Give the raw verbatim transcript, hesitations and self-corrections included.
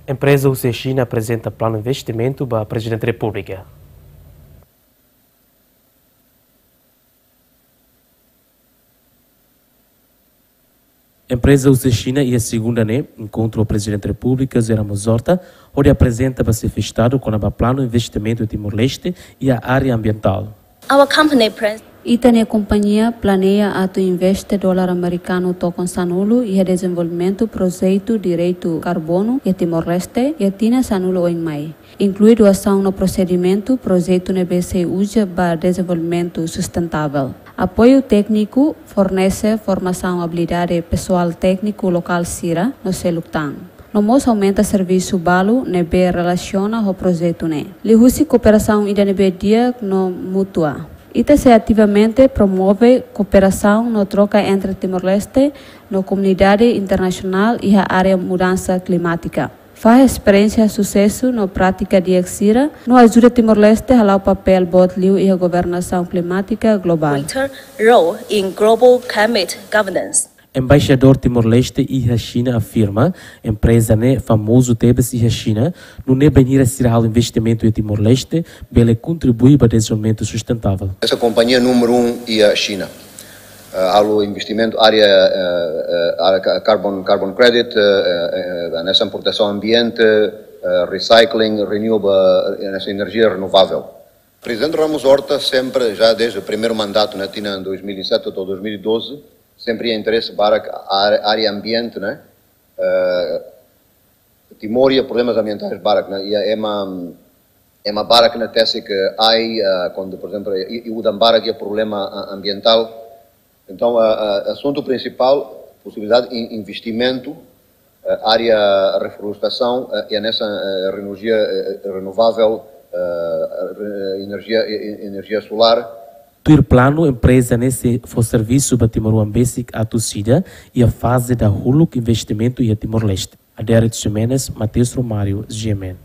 Empreza husi Xina aprezenta planu investimentu ba Prezidente Repúblika. Empreza husi Xina iha segunda ne'e enkontru ho Prezidente Repúblika José Ramos Horta, hodi aprezenta ba Xefe Estadu kona-ba planu investimentu iha Timor-Leste iha área ambientál. Our company plans Ita-nia kompañia planeia atu investe dolar amerikanu tokon sanulu iha dezenvolvimentu projetu direitu karbonu iha Timor-Leste iha tinan sanulu oin mai, inklui doasaun no prosedimentu projetu ne'ebé sei uza ba dezenvolvimentu sustentável. Apoiu tékniku, fornese formasaun abilidade pesoál tékniku lokál sira no seluk tan. No mós aumenta servisu balu ne'ebé relasiona ho projetu ne'e. Liuhusi kooperasaun ida ne'ebé di'ak no mútua, ita sei ativamente promove kooperasaun no troka entre Timor-Leste no komunidade internasionál iha área mudansa klimátika. Fahe esperiénsia susesu no prátika di'ak sira no ajuda Timor-Leste hala'o papél boot liu iha governasaun klimátika globál. Greater role in global climate governance. Embaixadór Timor-Leste iha Xina afirma, empreza ne'e famozu tebes iha Xina, nune'e bainhira sira halo investimentu iha Timor-Leste, bele kontribui ba dezenvolvimentu sustentável. Essa companhia número um iha Xina. Eh, halo investimentu área, eh, eh, área ca-, carbon, carbon credit, eh, eh, eh, hanesan protesaun ambiente, eh, recycling, renewable, eh, hanesan enerjia renovável. Prezidente Ramos Horta sempre, já desde o primeiro mandato, na tinan dois mil e sete até dois mil e doze, sempre iha interese barak área, área ambiente, né? Eh, Timor iha problemas ambientais barak, né? Iha ema, ema barak ne'e tesi ke ai, eh, kuandu, por ezemplu, i, i udan barak iha problema, ah, ambientál. Entaun, eh, eh, asuntu prinsipál, posibilidade in-, investimentu, eh, área reflorestasaun, eh, i hanesan, eh, enerjia, eh, renovável, eh, re-, enerjia, eh, eh, enerjia solár. Tuir planu, empreza ne'e sei fó servisu ba timoroan besik atus ida iha faze dahuluk investimentu iha Timor-Leste. Adérito Ximenes, Mateus Romário, G M N.